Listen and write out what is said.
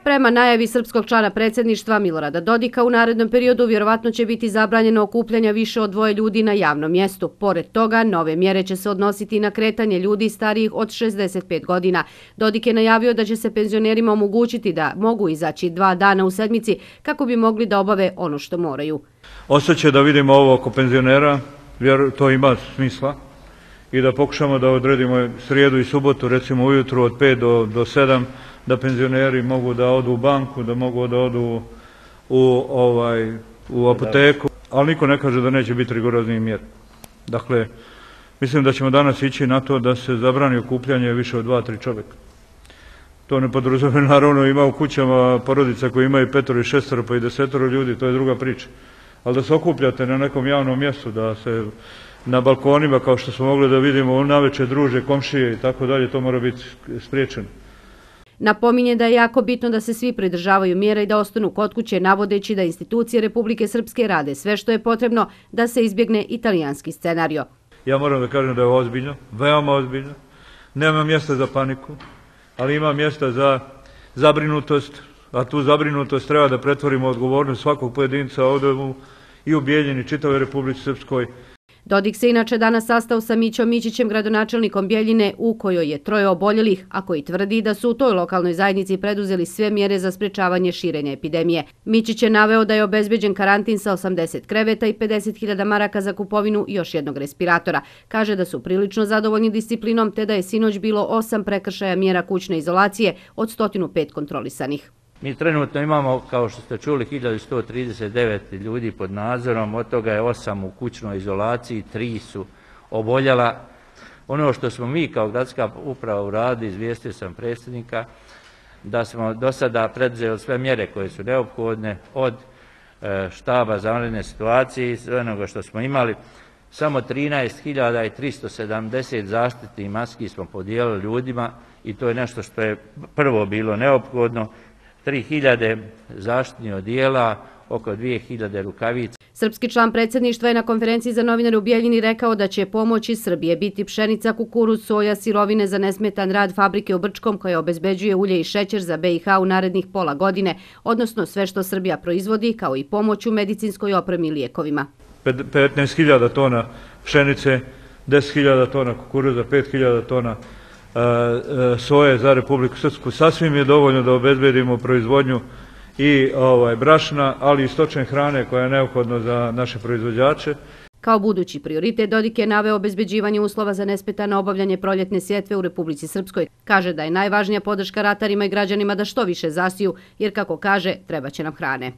Prema najavi srpskog člana predsjedništva Milorada Dodika, u narednom periodu vjerovatno će biti zabranjeno okupljanja više od 2 ljudi na javnom mjestu. Pored toga, nove mjere će se odnositi na kretanje ljudi starijih od 65 godina. Dodik je najavio da će se penzionerima omogućiti da mogu izaći 2 dana u sedmici kako bi mogli da obave ono što moraju. Ostaće da vidimo ovo oko penzionera, jer to ima smisla, i da pokušamo da odredimo srijedu i subotu, recimo ujutru od 5 do 7, da penzioneri mogu da odu u banku, da mogu da odu u apoteku, ali niko ne kaže da neće biti rigorozniji mjer. Dakle, mislim da ćemo danas ići na to da se zabrani okupljanje više od 2-3 čovjeka. To ne podrazumijeva, naravno ima u kućama porodica koji imaju 5 i 6 pa i 10 ljudi, to je druga priča. Ali da se okupljate na nekom javnom mjestu, da se na balkonima, kao što smo mogli da vidimo, navečer druže, komšije i tako dalje, to mora biti spriječeno. Napominje da je jako bitno da se svi pridržavaju mjera i da ostanu kod kuće, navodeći da institucije Republike Srpske rade sve što je potrebno da se izbjegne italijanski scenario. Ja moram da kažem da je ozbiljno, veoma ozbiljno. Nema mjesta za paniku, ali ima mjesta za zabrinutost, a tu zabrinutost treba da pretvorimo odgovornost svakog pojedinca ovdje i u Bijeljini, čitavoj Republici Srpskoj. Dodik se inače danas sastao sa Mićom Mićićem, gradonačelnikom Bijeljine, u kojoj je 3 oboljelih, a koji tvrdi da su u toj lokalnoj zajednici preduzeli sve mjere za sprečavanje širenja epidemije. Mićić je naveo da je obezbeđen karantin sa 80 kreveta i 50.000 maraka za kupovinu još jednog respiratora. Kaže da su prilično zadovoljni disciplinom, te da je sinoć bilo 8 prekršaja mjera kućne izolacije od 105 kontrolisanih. Mi trenutno imamo, kao što ste čuli, 1139 ljudi pod nadzorom, od toga je 8 u kućnoj izolaciji, 3 su oboljela. Ono što smo mi kao gradska uprava uradili, izvijestio sam predsjednika, da smo do sada preduzeli sve mjere koje su neophodne, od štaba za vanredne situacije i sve onoga što smo imali. Samo 13.370 zaštitnih maski smo podijelili ljudima i to je nešto što je prvo bilo neophodno. 3.000 zaštitnih odijela, oko 2.000 rukavica. Srpski član predsjedništva je na konferenciji za novinare u Bijeljini rekao da će pomoć iz Srbije biti pšenica, kukuruz, soja, sirovine za nesmetan rad fabrike u Brčkom koja obezbeđuje ulje i šećer za BiH u narednih pola godine, odnosno sve što Srbija proizvodi, kao i pomoć u medicinskoj opremi i lijekovima. 15.000 tona pšenice, 10.000 tona kukuruza, 5.000 tona soje za Republiku Srpsku. Sasvim je dovoljno da obezbedimo proizvodnju i brašna, ali i stočne hrane koja je neophodna za naše proizvođače. Kao budući prioritet, Dodik je naveo obezbeđivanje uslova za nesmetano obavljanje proljetne sjetve u Republici Srpskoj. Kaže da je najvažnija podrška ratarima i građanima da što više zasiju, jer kako kaže, trebaće nam hrane.